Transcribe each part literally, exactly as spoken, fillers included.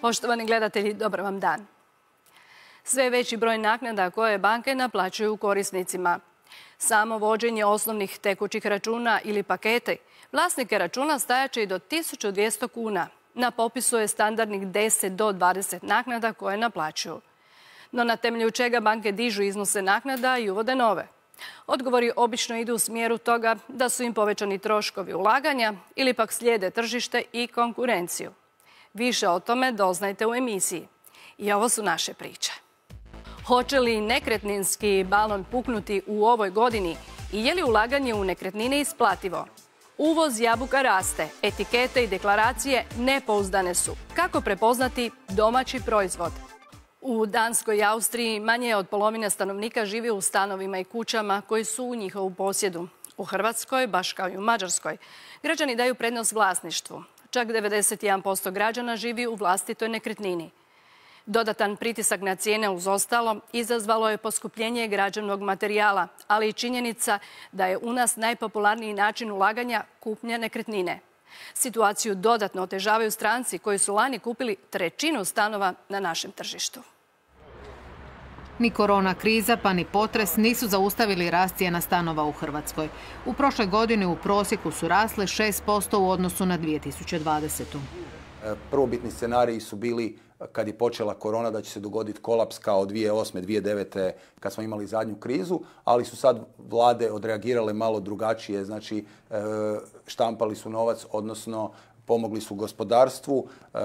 Poštovani gledatelji, dobar vam dan. Sve je veći broj naknada koje banke naplaćuju korisnicima. Samo vođenje osnovnih tekućih računa ili pakete vlasnike računa stajaće i do tisuću dvjesto kuna. Na popisu je standardnih deset do dvadeset naknada koje naplaćuju. No na temelju čega banke dižu iznose naknada i uvode nove? Odgovori obično idu u smjeru toga da su im povećani troškovi ulaganja ili pak slijede tržište i konkurenciju. Više o tome doznajte u emisiji. I ovo su naše priče. Hoće li nekretninski balon puknuti u ovoj godini i je li ulaganje u nekretnine isplativo? Uvoz jabuka raste, etikete i deklaracije nepouzdane su. Kako prepoznati domaći proizvod? U Danskoj i Austriji manje od polovine stanovnika živi u stanovima i kućama koji su u njihovu posjedu. U Hrvatskoj, baš kao i u Mađarskoj, građani daju prednost vlasništvu. Čak devedeset jedan posto građana živi u vlastitoj nekretnini. Dodatan pritisak na cijene uz ostalo izazvalo je poskupljenje građevnog materijala, ali i činjenica da je u nas najpopularniji način ulaganja kupnja nekretnine. Situaciju dodatno otežavaju stranci koji su lani kupili trećinu stanova na našem tržištu. Ni korona kriza pa ni potres nisu zaustavili rast cijena stanova u Hrvatskoj. U prošloj godini u prosjeku su rasle šest posto u odnosu na dvije tisuće dvadesetu. Prvobitni scenariji su bili kad je počela korona da će se dogoditi kolaps kao dvije tisuće osme. dvije tisuće devete. kad smo imali zadnju krizu, ali su sad vlade odreagirale malo drugačije, znači štampali su novac, odnosno pomogli su gospodarstvu, e,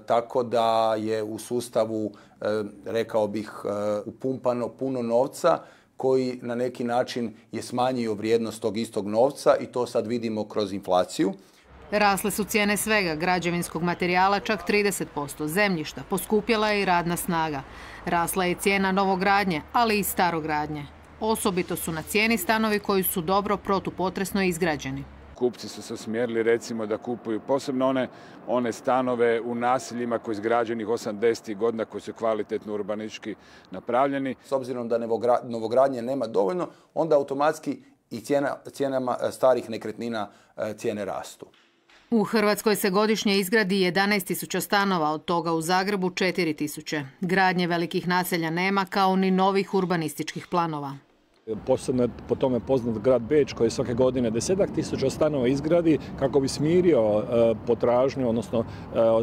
tako da je u sustavu, e, rekao bih, e, upumpano puno novca koji na neki način je smanjio vrijednost tog istog novca i to sad vidimo kroz inflaciju. Rasle su cijene svega, građevinskog materijala čak trideset posto, zemljišta, poskupjela je i radna snaga. Rasla je cijena novogradnje, ali i starogradnje. Osobito su na cijeni stanovi koji su dobro protupotresno izgrađeni. Kupci su se usmjerili recimo da kupuju posebno one, one stanove u naseljima koji su izgrađenih osamdesetih godina, koji su kvalitetno urbanistički napravljeni. S obzirom da novogradnje nema dovoljno, onda automatski i cijena, cijenama starih nekretnina cijene rastu. U Hrvatskoj se godišnje izgradi jedanaest tisuća stanova, od toga u Zagrebu četiri tisuće. Gradnje velikih naselja nema, kao ni novih urbanističkih planova. Posebno je po tome poznat grad Beč koji svake godine desetak tisuća stanova izgradi kako bi smirio potražnju, odnosno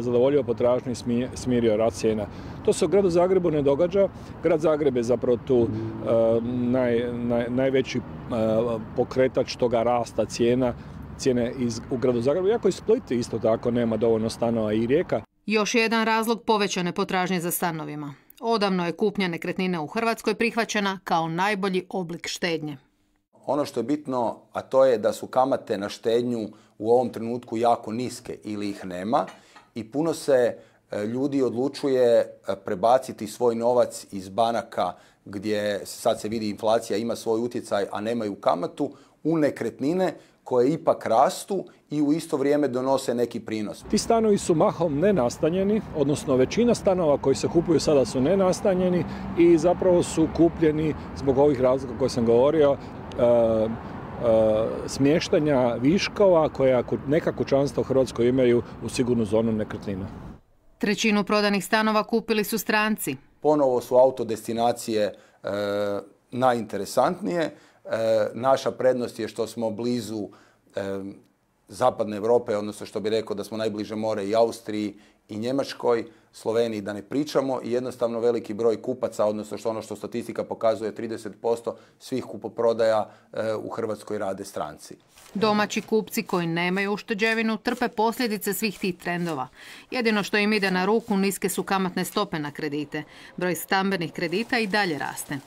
zadovoljio potražnju i smirio rast cijena. To se u gradu Zagrebu ne događa. Grad Zagreb je zapravo tu naj, naj, najveći pokretač toga rasta cijena, cijene iz, u gradu Zagrebu. Iako i Split isto tako nema dovoljno stanova i Rijeka. Još jedan razlog povećane potražnje za stanovima. Odavno je kupnja nekretnine u Hrvatskoj prihvaćena kao najbolji oblik štednje. Ono što je bitno, a to je da su kamate na štednju u ovom trenutku jako niske ili ih nema i puno se ljudi odlučuje prebaciti svoj novac iz banaka gdje sad se vidi inflacija ima svoj utjecaj, a nemaju kamatu, u nekretnine koje ipak rastu i u isto vrijeme donose neki prinos. Ti stanovi su mahom nenastanjeni, odnosno većina stanova koji se kupuju sada su nenastanjeni i zapravo su kupljeni zbog ovih razloga koje sam govorio, uh, uh, smještanja viškova koja neka kućanstva u Hrvatskoj imaju u sigurnu zonu nekretnina. Trećinu prodanih stanova kupili su stranci. Ponovo su autodestinacije uh, najinteresantnije. E, naša prednost je što smo blizu e, zapadne Europe, odnosno što bi rekao da smo najbliže more i Austriji i Njemačkoj, Sloveniji da ne pričamo i jednostavno veliki broj kupaca, odnosno što ono što statistika pokazuje trideset posto svih kupoprodaja e, u Hrvatskoj rade stranci. Domaći kupci koji nemaju ušteđevinu trpe posljedice svih tih trendova. Jedino što im ide na ruku niske su kamatne stope na kredite. Broj stambenih kredita i dalje raste.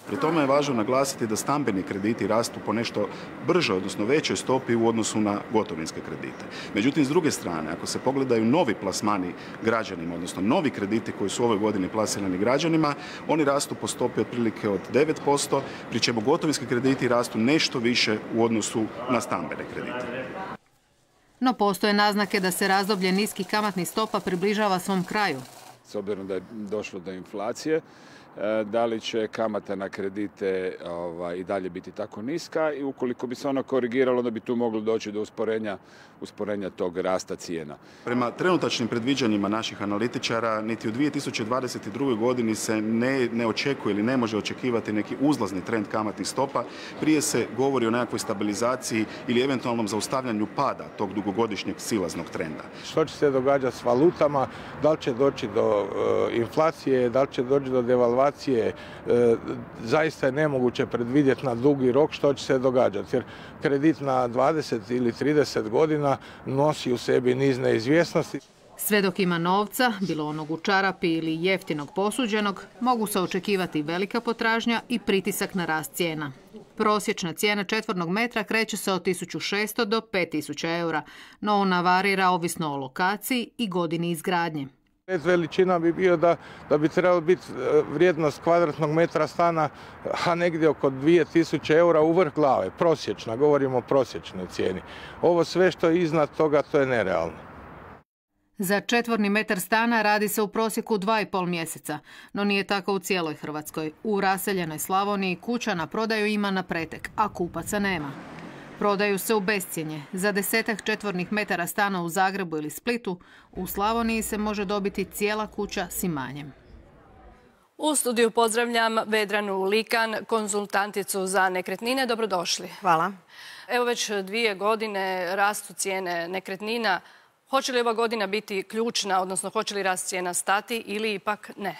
Pri tome je važno naglasiti da stambeni krediti rastu po nešto bržoj, odnosno većoj stopi u odnosu na gotovinske kredite. Međutim, s druge strane, ako se pogledaju novi plasmani građanima, odnosno novi krediti koji su ove godine plasirani građanima, oni rastu po stopi otprilike od devet posto, pri čemu gotovinski krediti rastu nešto više u odnosu na stambene kredite. No postoje naznake da se razdoblje niskih kamatnih stopa približava svom kraju. S obzirom da je došlo do inflacije, da li će kamata na kredite ovaj, i dalje biti tako niska i ukoliko bi se ono korigiralo, da bi tu moglo doći do usporenja, usporenja tog rasta cijena. Prema trenutačnim predviđanjima naših analitičara, niti u dvije tisuće dvadeset drugoj. godini se ne, ne očekuje ili ne može očekivati neki uzlazni trend kamatnih stopa. Prije se govori o nekakvoj stabilizaciji ili eventualnom zaustavljanju pada tog dugogodišnjeg silaznog trenda. Što će se događati s valutama, da li će doći do uh, inflacije, da li će doći do devalvacije, uh, zaista je nemoguće predvidjeti na dugi rok što će se događati. Jer kredit na dvadeset ili trideset godina nosi u sebi niz neizvjesnosti. Sve dok ima novca, bilo onog u čarapi ili jeftinog posuđenog, mogu se očekivati velika potražnja i pritisak na rast cijena. Prosječna cijena četvornog metra kreće se od tisuću šesto do pet tisuća eura, no ona varira ovisno o lokaciji i godini izgradnje. Veličina bi bio da, da bi trebalo biti vrijednost kvadratnog metra stana a negdje oko dvije tisuće eura u vrh glave, prosječna, govorimo o prosječnoj cijeni. Ovo sve što je iznad toga, to je nerealno. Za četvorni metar stana radi se u prosjeku dva i pol mjeseca, no nije tako u cijeloj Hrvatskoj. U raseljenoj Slavoniji kuća na prodaju ima na pretek, a kupaca nema. Prodaju se u bescjenje. Za desetak četvornih metara stana u Zagrebu ili Splitu, u Slavoniji se može dobiti cijela kuća s imanjem. U studiju pozdravljam Vedranu Likan, konzultanticu za nekretnine. Dobrodošli. Hvala. Evo već dvije godine rastu cijene nekretnina. Hoće li ova godina biti ključna, odnosno hoće li rast cijena stati ili ipak ne?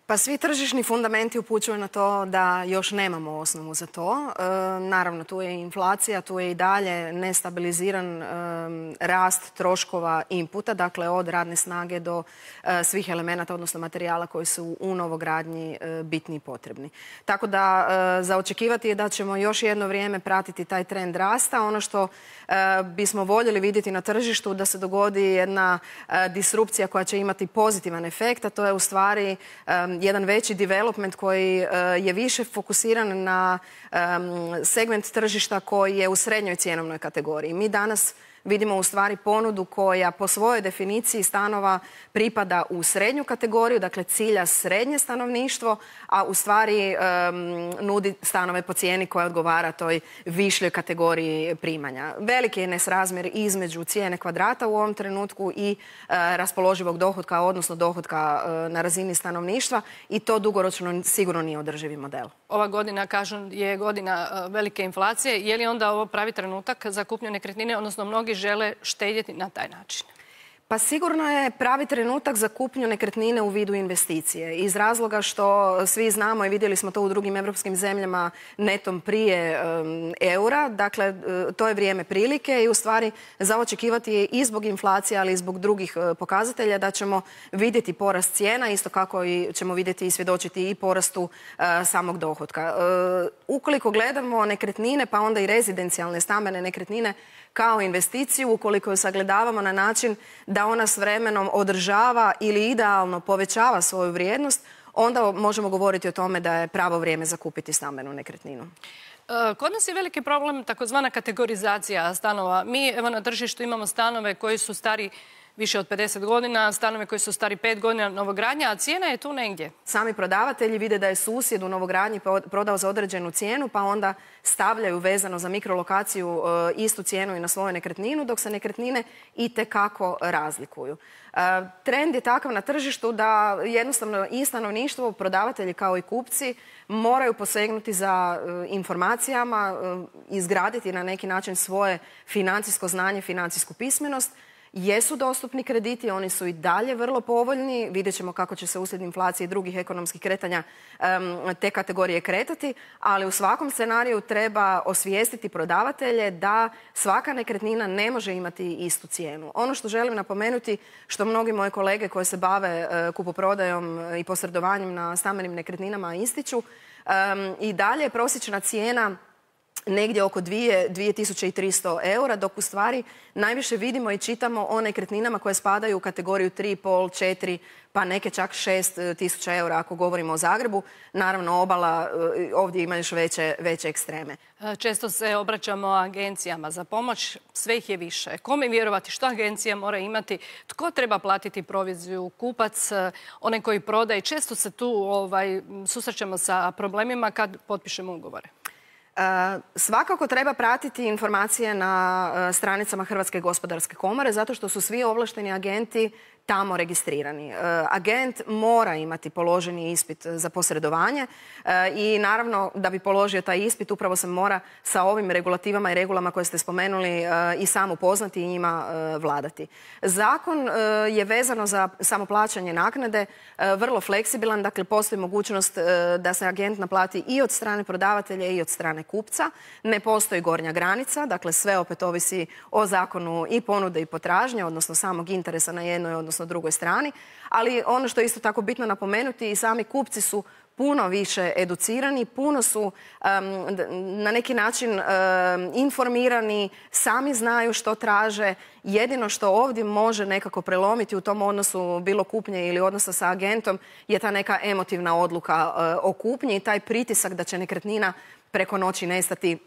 Pa svi tržišni fundamenti upućuju na to da još nemamo osnovu za to. E, naravno, tu je inflacija, tu je i dalje nestabiliziran e, rast troškova inputa, dakle od radne snage do e, svih elemenata, odnosno materijala koji su u novogradnji e, bitni i potrebni. Tako da e, za očekivati je da ćemo još jedno vrijeme pratiti taj trend rasta. Ono što e, bismo voljeli vidjeti na tržištu da se dogodi jedna e, disrupcija koja će imati pozitivan efekt, a to je u stvari e, jedan veći development koji je više fokusiran na segment tržišta koji je u srednjoj cjenovnoj kategoriji. Mi danas vidimo u stvari ponudu koja po svojoj definiciji stanova pripada u srednju kategoriju, dakle cilja srednje stanovništvo, a u stvari um, nudi stanove po cijeni koja odgovara toj višljoj kategoriji primanja. Veliki je nesrazmjer između cijene kvadrata u ovom trenutku i uh, raspoloživog dohotka, odnosno dohotka uh, na razini stanovništva i to dugoročno sigurno nije održivi model. Ova godina, kažu, je godina uh, velike inflacije. Je li onda ovo pravi trenutak za kupnju nekretnine, odnosno mnogi žele štedjeti na taj način? Pa sigurno je pravi trenutak za kupnju nekretnine u vidu investicije. Iz razloga što svi znamo i vidjeli smo to u drugim evropskim zemljama netom prije um, eura. Dakle, to je vrijeme prilike i u stvari za očekivati je i zbog inflacije, ali i zbog drugih uh, pokazatelja da ćemo vidjeti porast cijena, isto kako i ćemo vidjeti i svjedočiti i porastu uh, samog dohotka. Uh, ukoliko gledamo nekretnine, pa onda i rezidencijalne stambene nekretnine kao investiciju, ukoliko ju sagledavamo na način da ona s vremenom održava ili idealno povećava svoju vrijednost, onda možemo govoriti o tome da je pravo vrijeme za kupiti stambenu nekretninu. Kod nas je veliki problem takozvana kategorizacija stanova. Mi evo na tržištu imamo stanove koji su stari više od pedeset godina, stanove koji su stari pet godina novogradnja, a cijena je tu negdje. Sami prodavatelji vide da je susjed u novogradnji prodao za određenu cijenu, pa onda stavljaju vezano za mikrolokaciju istu cijenu i na svoju nekretninu, dok se nekretnine itekako razlikuju. Trend je takav na tržištu da jednostavno i stanovništvo, prodavatelji kao i kupci moraju posegnuti za informacijama, izgraditi na neki način svoje financijsko znanje, financijsku pismenost. Jesu dostupni krediti, oni su i dalje vrlo povoljni. Vidjet ćemo kako će se uslijed inflacije i drugih ekonomskih kretanja um, te kategorije kretati, ali u svakom scenariju treba osvijestiti prodavatelje da svaka nekretnina ne može imati istu cijenu. Ono što želim napomenuti, što mnogi moji kolege koji se bave uh, kupoprodajom i posredovanjem na stambenim nekretninama ističu, um, i dalje je prosječna cijena negdje oko dvije tisuće tristo eura, dok u stvari najviše vidimo i čitamo o nekretninama koje spadaju u kategoriju tri i pol, četiri, pa neke čak šest tisuća eura ako govorimo o Zagrebu. Naravno, obala ovdje ima još veće, veće ekstreme. Često se obraćamo agencijama za pomoć, sve ih je više. Kome vjerovati, što agencija mora imati, tko treba platiti proviziju, kupac, onaj koji prodaje. Često se tu ovaj, susrećemo sa problemima kad potpišemo ugovore. Svakako treba pratiti informacije na stranicama Hrvatske gospodarske komore zato što su svi ovlašteni agenti tamo registrirani. Agent mora imati položeni ispit za posredovanje i naravno da bi položio taj ispit upravo se mora sa ovim regulativama i regulama koje ste spomenuli i sam upoznati i njima vladati. Zakon je vezano za samoplaćanje naknade vrlo fleksibilan, dakle postoji mogućnost da se agent naplati i od strane prodavatelja i od strane kupca. Ne postoji gornja granica, dakle sve opet ovisi o zakonu i ponude i potražnje, odnosno samog interesa na jednoj, odnosno na drugoj strani, ali ono što je isto tako bitno napomenuti i sami kupci su puno više educirani, puno su um, na neki način um, informirani, sami znaju što traže. Jedino što ovdje može nekako prelomiti u tom odnosu bilo kupnje ili odnosa sa agentom je ta neka emotivna odluka uh, o kupnji i taj pritisak da će nekretnina preko noći nestati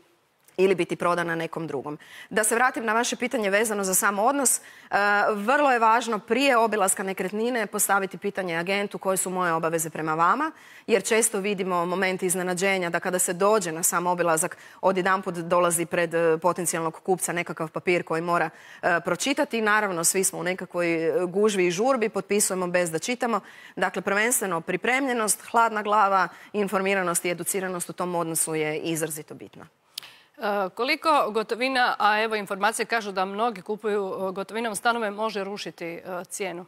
ili biti prodana nekom drugom. Da se vratim na vaše pitanje vezano za sam odnos, vrlo je važno prije obilaska nekretnine postaviti pitanje agentu koje su moje obaveze prema vama, jer često vidimo moment iznenađenja da kada se dođe na sam obilazak odjedanput dolazi pred potencijalnog kupca nekakav papir koji mora pročitati. Naravno, svi smo u nekakvoj gužvi i žurbi, potpisujemo bez da čitamo. Dakle, prvenstveno pripremljenost, hladna glava, informiranost i educiranost u tom odnosu je izrazito bitna. Koliko gotovina, a evo informacije kažu da mnogi kupuju gotovinom stanove, može rušiti cijenu?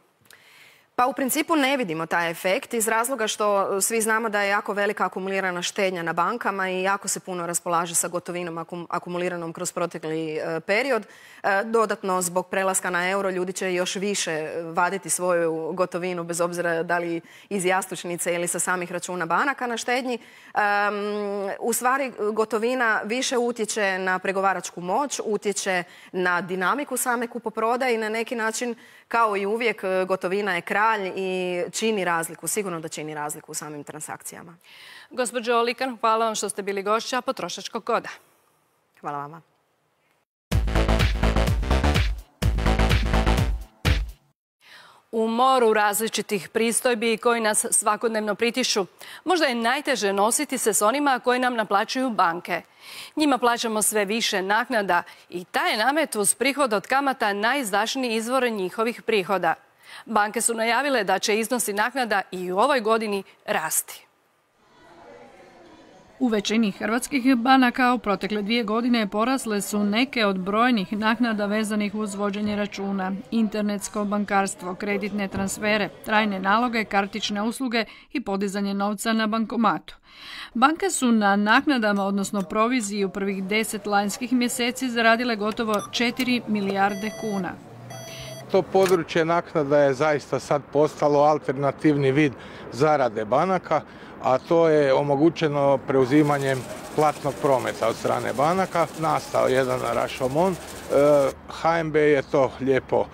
Pa u principu ne vidimo taj efekt iz razloga što svi znamo da je jako velika akumulirana štednja na bankama i jako se puno raspolaže sa gotovinom akumuliranom kroz protekli period. Dodatno, zbog prelaska na euro, ljudi će još više vaditi svoju gotovinu bez obzira da li iz jastučnice ili sa samih računa banaka na štednji. U stvari, gotovina više utječe na pregovaračku moć, utječe na dinamiku same kupoprodaje i na neki način, kao i uvijek, gotovina je kralj i čini razliku, sigurno da čini razliku u samim transakcijama. Gospođo Likan, hvala vam što ste bili gošća Potrošačkog koda. Hvala vama. U moru različitih pristojbi koji nas svakodnevno pritišu, možda je najteže nositi se s onima koji nam naplaćuju banke. Njima plaćamo sve više naknada i taj je namet uz prihod od kamata najizdašniji izvor njihovih prihoda. Banke su najavile da će iznosi naknada i u ovoj godini rasti. U većini hrvatskih banaka u protekle dvije godine porasle su neke od brojnih naknada vezanih uz vođenje računa, internetsko bankarstvo, kreditne transfere, trajne naloge, kartične usluge i podizanje novca na bankomatu. Banke su na naknadama, odnosno proviziji u prvih deset lanjskih mjeseci zaradile gotovo četiri milijarde kuna. To područje naknada je zaista sad postalo alternativni vid zarade banaka, a to je omogućeno preuzimanjem platnog prometa od strane banaka. Nastao jedan rašomon. H N B je to lijepo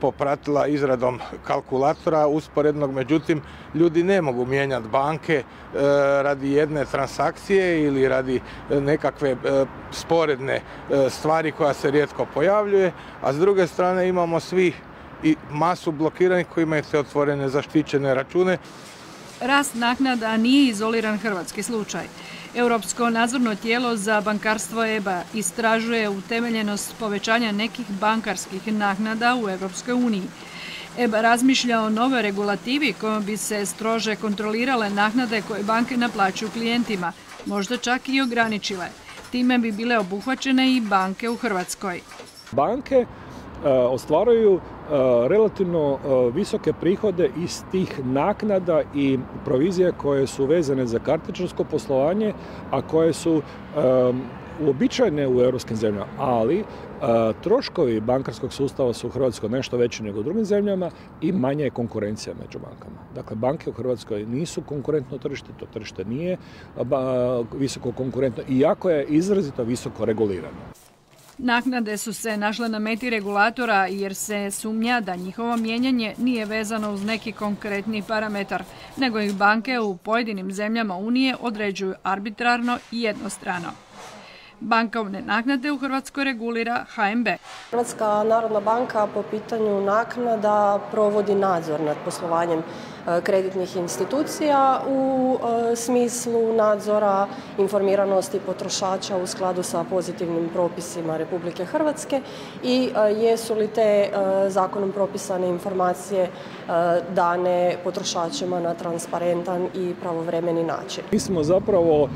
popratila izradom kalkulatora usporednog, međutim ljudi ne mogu mijenjati banke radi jedne transakcije ili radi nekakve sporedne stvari koja se rijetko pojavljuje, a s druge strane imamo svi i masu blokiranih koji imaju te otvorene zaštićene račune. Rast naknada nije izoliran hrvatski slučaj. Europsko nadzorno tijelo za bankarstvo E B A istražuje utemeljenost povećanja nekih bankarskih naknada u Europskoj uniji. E B A razmišlja o novoj regulativi kojom bi se strože kontrolirale naknade koje banke naplaćuju klijentima, možda čak i ograničile. Time bi bile obuhvaćene i banke u Hrvatskoj. Banke ostvaruju relativno visoke prihode iz tih naknada i provizije koje su vezane za kartičarsko poslovanje, a koje su uobičajene u europskim zemljama, ali troškovi bankarskog sustava su u Hrvatskoj nešto veći nego u drugim zemljama i manja je konkurencija među bankama. Dakle, banke u Hrvatskoj nisu konkurentno tržište, to tržište nije visoko konkurentno, iako je izrazito visoko regulirano. Naknade su se našle na meti regulatora jer se sumnja da njihovo mijenjanje nije vezano uz neki konkretni parametar, nego ih banke u pojedinim zemljama Unije određuju arbitrarno i jednostrano. Bankovne naknade u Hrvatskoj regulira H N B. Hrvatska narodna banka po pitanju naknada provodi nadzor nad poslovanjem kreditnih institucija u smislu nadzora informiranosti potrošača u skladu sa pozitivnim propisima Republike Hrvatske i jesu li te zakonom propisane informacije dane potrošačima na transparentan i pravovremeni način. Mi smo zapravo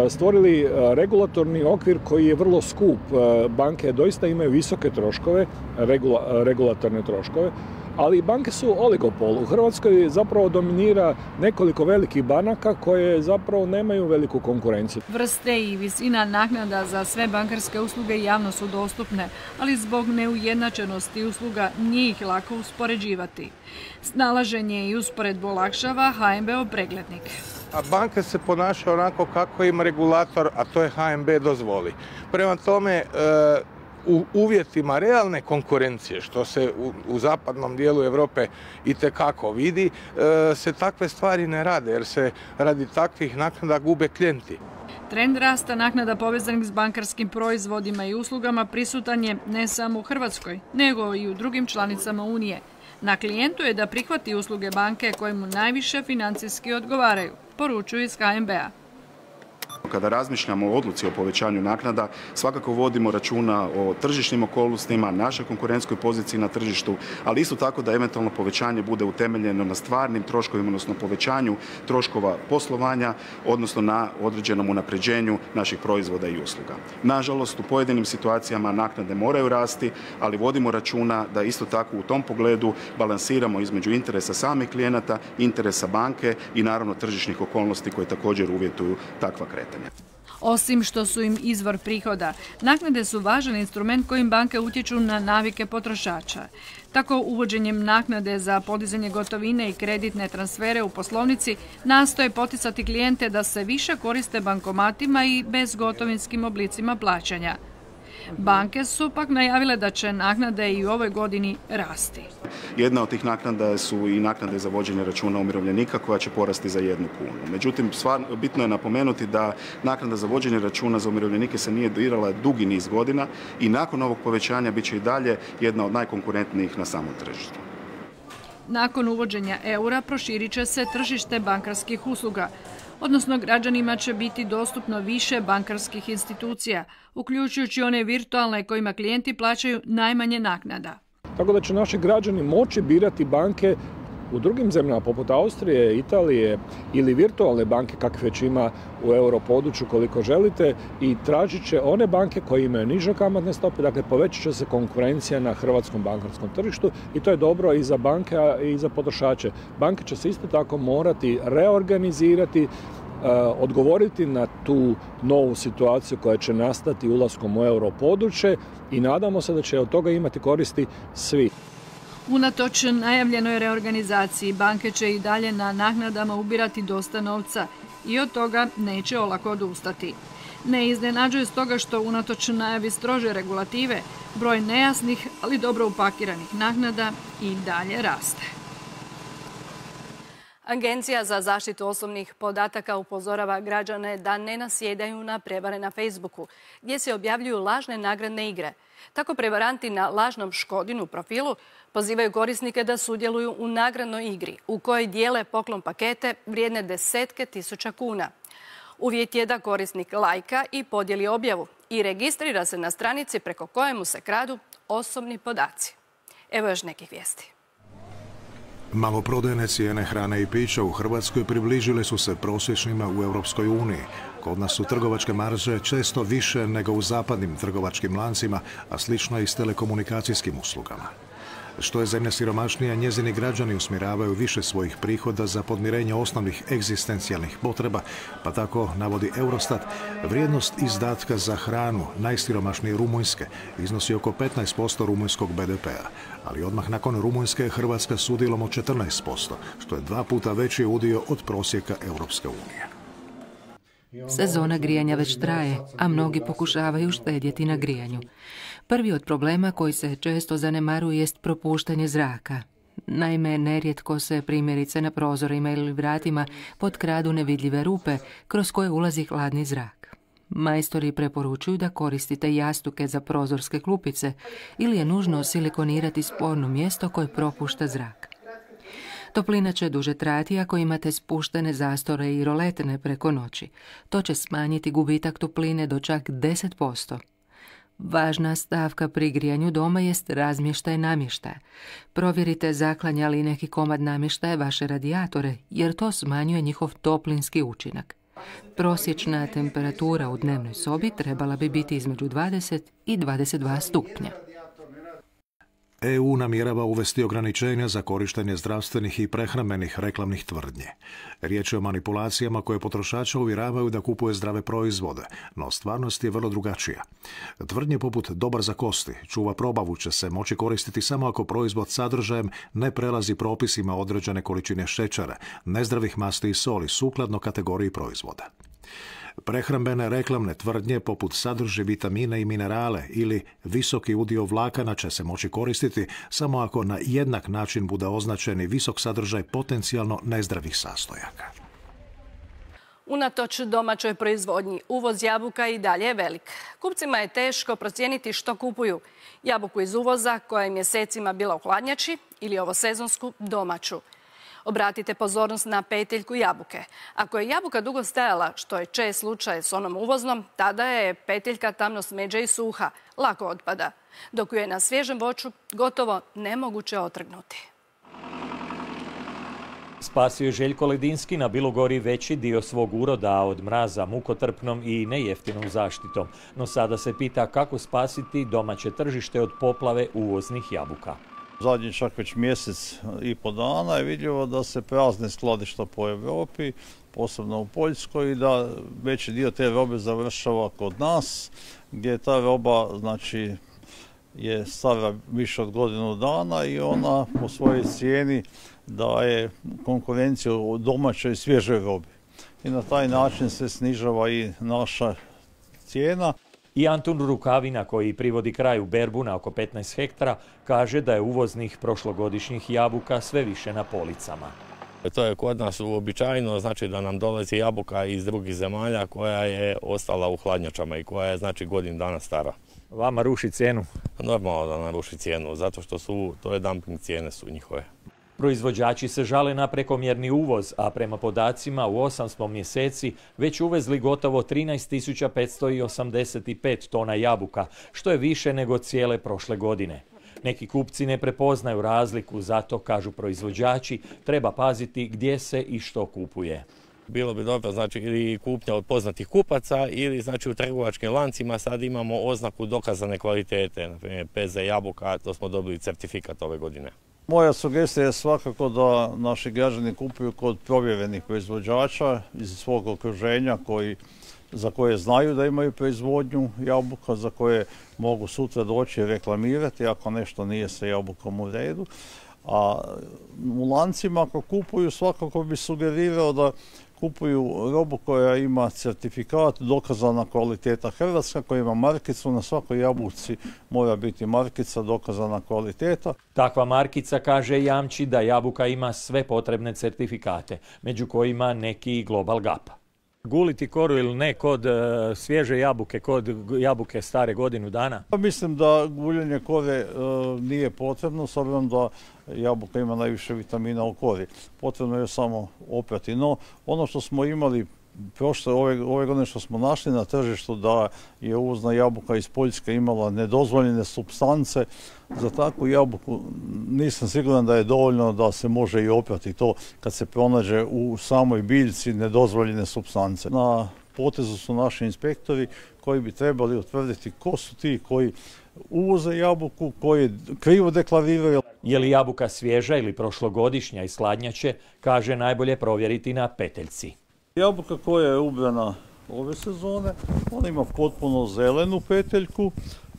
stvorili regulatorni okvir koji je vrlo skup. Banke doista imaju visoke troškove, regulatorne troškove, ali banke su oligopol. U Hrvatskoj zapravo dominira nekoliko velikih banaka koje zapravo nemaju veliku konkurenciju. Vrste i visina naknada za sve bankarske usluge javno su dostupne, ali zbog neujednačenosti usluga nije ih lako uspoređivati. Snalaženje i usporedbu olakšava H N B-ov preglednik. A banke se ponašaju onako kako im regulator, a to je H N B, dozvoli. Prema tome, u uvjetima realne konkurencije, što se u, u zapadnom dijelu Europe itekako vidi, se takve stvari ne rade, jer se radi takvih naknada gube klijenti. Trend rasta naknada povezanih s bankarskim proizvodima i uslugama prisutan je ne samo u Hrvatskoj, nego i u drugim članicama Unije. Na klijentu je da prihvati usluge banke koje mu najviše financijski odgovaraju, poručuju iz H N B-a. Kada razmišljamo o odluci o povećanju naknada, svakako vodimo računa o tržišnim okolnostima, našoj konkurentskoj poziciji na tržištu, ali isto tako da eventualno povećanje bude utemeljeno na stvarnim troškovima, odnosno povećanju troškova poslovanja, odnosno na određenom unapređenju naših proizvoda i usluga. Nažalost, u pojedinim situacijama naknade moraju rasti, ali vodimo računa da isto tako u tom pogledu balansiramo između interesa samih klijenata, interesa banke i naravno tržišnih okolnosti koje također uvjetuju takva kretanja. Osim što su im izvor prihoda, naknade su važan instrument kojim banke utječu na navike potrošača. Tako, uvođenjem naknade za podizanje gotovine i kreditne transfere u poslovnici nastoje poticati klijente da se više koriste bankomatima i bezgotovinskim oblicima plaćanja. Banke su pak najavile da će naknade i u ovoj godini rasti. Jedna od tih naknada su i naknade za vođenje računa umirovljenika koja će porasti za jednu kunu. Međutim, stvarno, bitno je napomenuti da naknada za vođenje računa za umirovljenike se nije dirala dugi niz godina i nakon ovog povećanja bit će i dalje jedna od najkonkurentnijih na samom tržištu. Nakon uvođenja eura proširit će se tržište bankarskih usluga, odnosno građanima će biti dostupno više bankarskih institucija, uključujući one virtualne kojima klijenti plaćaju najmanje naknada. Tako da će naši građani moći birati banke u drugim zemljama poput Austrije, Italije ili virtualne banke kakve već ima u europodručju koliko želite i tražit će one banke koje imaju niže kamatne stope, dakle povećat će se konkurencija na hrvatskom bankarskom tržištu i to je dobro i za banke i za potrošače. Banke će se isto tako morati reorganizirati, odgovoriti na tu novu situaciju koja će nastati ulaskom u europodručje i nadamo se da će od toga imati koristi svi. Unatoč najavljenoj reorganizaciji, banke će i dalje na naknadama ubirati dosta novca i od toga neće olako odustati. Ne iznenađuje stoga što unatoč najavi strože regulative, broj nejasnih, ali dobro upakiranih naknada i dalje raste. Agencija za zaštitu osobnih podataka upozorava građane da ne nasjedaju na prevare na Facebooku, gdje se objavljuju lažne nagradne igre. Tako prevaranti na lažnom Škodinu profilu pozivaju korisnike da sudjeluju u nagradnoj igri u kojoj dijele poklon pakete vrijedne desetke tisuća kuna. Uvjet je da korisnik lajka i podijeli objavu i registrira se na stranici preko kojemu se kradu osobni podaci. Evo još nekih vijesti. Maloprodajne cijene hrane i pića u Hrvatskoj približile su se prosječnima u Europskoj uniji. Kod nas su trgovačke marže često više nego u zapadnim trgovačkim lancima, a slično i s telekomunikacijskim uslugama. Što je zemlja siromašnija, njezini građani usmjeravaju više svojih prihoda za podmirenje osnovnih egzistencijalnih potreba, pa tako, navodi Eurostat, vrijednost izdatka za hranu najsiromašnije Rumunjske iznosi oko petnaest posto rumunjskog be de pea, ali odmah nakon Rumunjske Hrvatska s udjelom od četrnaest posto, što je dva puta veći udio od prosjeka Europske unije. Sezona grijanja već traje, a mnogi pokušavaju štedjeti na grijanju. Prvi od problema koji se često zanemaruje jest propuštanje zraka. Naime, nerijetko se primjerice na prozorima ili vratima potkradu nevidljive rupe kroz koje ulazi hladni zrak. Majstori preporučuju da koristite jastuke za prozorske klupice ili je nužno silikonirati sporno mjesto koje propušta zrak. Toplina će duže trajati ako imate spuštene zastore i roletne preko noći. To će smanjiti gubitak topline do čak deset posto. Važna stavka pri grijanju doma jest razmještaj namještaja. Provjerite zaklanja li neki komad namještaja vaše radijatore, jer to smanjuje njihov toplinski učinak. Prosječna temperatura u dnevnoj sobi trebala bi biti između dvadeset i dvadeset dva stupnja. E U namjerava uvesti ograničenja za korištenje zdravstvenih i prehrambenih reklamnih tvrdnji. Riječ je o manipulacijama koje potrošača uvjeravaju da kupuje zdrave proizvode, no stvarnost je vrlo drugačija. Tvrdnje poput dobar za kosti, čuva probavu će se moći koristiti samo ako proizvod sadržajem ne prelazi propisima određene količine šećera, nezdravih masti i soli sukladno kategoriji proizvoda. Prehrambene reklamne tvrdnje poput sadrži vitamine i minerale ili visoki udio vlakana će se moći koristiti samo ako na jednak način bude označeni visok sadržaj potencijalno nezdravih sastojaka. Unatoč domaćoj proizvodnji, uvoz jabuka i dalje je velik. Kupcima je teško procijeniti što kupuju. Jabuku iz uvoza koja je mjesecima bila u hladnjači ili ovosezonsku domaću. Obratite pozornost na peteljku jabuke. Ako je jabuka dugo stajala, što je čest slučaj s onom uvoznom, tada je peteljka tamno smeđa i suha, lako otpada, dok ju je na svježem voću gotovo nemoguće otrgnuti. Spasio je Željko Ledinski na Bilogori veći dio svog uroda od mraza mukotrpnom i nejeftinom zaštitom. No sada se pita kako spasiti domaće tržište od poplave uvoznih jabuka. Zadnji čak već mjesec i po dana je vidljivo da se prazne skladišta po Europi, posebno u Poljskoj, i da veći dio te robe završava kod nas, gdje ta roba znači, je stara više od godinu dana i ona po svojoj cijeni daje konkurenciju u domaćoj i svježoj robi. I na taj način se snižava i naša cijena. I Antun Rukavina, koji privodi kraju berbu na oko petnaest hektara, kaže da je uvoznih prošlogodišnjih jabuka sve više na policama. To je kod nas uobičajeno, znači da nam dolazi jabuka iz drugih zemalja koja je ostala u hladnjačama i koja je znači godinu dana stara. Vama ruši cijenu? Normalno da nam ruši cijenu, zato što su, to je dumping cijene su njihove. Proizvođači se žale na prekomjerni uvoz, a prema podacima u osam smo mjeseci već uvezli gotovo trinaest tisuća petsto osamdeset pet tona jabuka, što je više nego cijele prošle godine. Neki kupci ne prepoznaju razliku, zato, kažu proizvođači, treba paziti gdje se i što kupuje. Bilo bi dobro, znači, ili kupnja od poznatih kupaca ili znači u trgovačkim lancima sad imamo oznaku dokazane kvalitete, na primjer P Z jabuka, to smo dobili certifikat ove godine. Moja sugestija je svakako da naši građani kupuju kod provjerenih proizvođača iz svog okruženja koji, za koje znaju da imaju proizvodnju jabuka, za koje mogu sutra doći i reklamirati ako nešto nije sa jabukom u redu. A u lancima ako kupuju svakako bi sugerirao da kupuju robu koja ima certifikat, dokazana kvaliteta Hrvatska, koja ima markicu, na svakoj jabuci mora biti markica, dokazana kvaliteta. Takva markica, kaže, jamči da jabuka ima sve potrebne certifikate, među kojima neki i Global Gap. Guliti koru ili ne kod uh, svježe jabuke, kod jabuke stare godinu dana? Mislim da guljenje kore uh, nije potrebno, s obzirom da jabuka ima najviše vitamina u kori. Potrebno je samo oprati. No, ono što smo imali prošle, ove, ove godine što smo našli na tržištu da je uvozna jabuka iz Poljske imala nedozvoljene supstance, za takvu jabuku nisam siguran da je dovoljno da se može i oprati to kad se pronađe u samoj biljci nedozvoljene supstance. Na potezu su naši inspektori koji bi trebali utvrditi ko su ti koji uvoze jabuku, koji krivo deklariraju. Je li jabuka svježa ili prošlogodišnja i sladnjače, kaže najbolje provjeriti na peteljci. Jabuka koja je ubrana ove sezone, ona ima potpuno zelenu peteljku,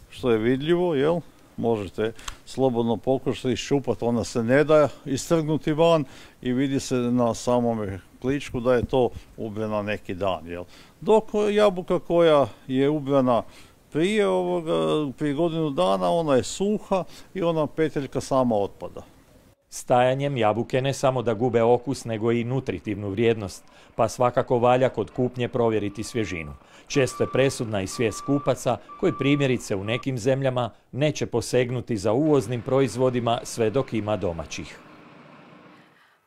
što je vidljivo, jel? Možete slobodno pokušati iščupati, ona se ne da istrgnuti van i vidi se na samome kličku da je to ubrana neki dan. Jel? Dok jabuka koja je ubrana prije ovoga, prije godinu dana, ona je suha i ona peteljka sama otpada. Stajanjem jabuke ne samo da gube okus, nego i nutritivnu vrijednost, pa svakako valja kod kupnje provjeriti svježinu. Često je presudna i svijest kupaca koji primjerice u nekim zemljama neće posegnuti za uvoznim proizvodima sve dok ima domaćih.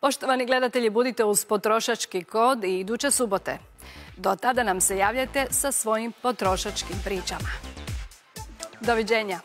Poštovani gledatelji, budite uz potrošački kod i iduće subote. Do tada nam se javljajte sa svojim potrošačkim pričama. Doviđenja.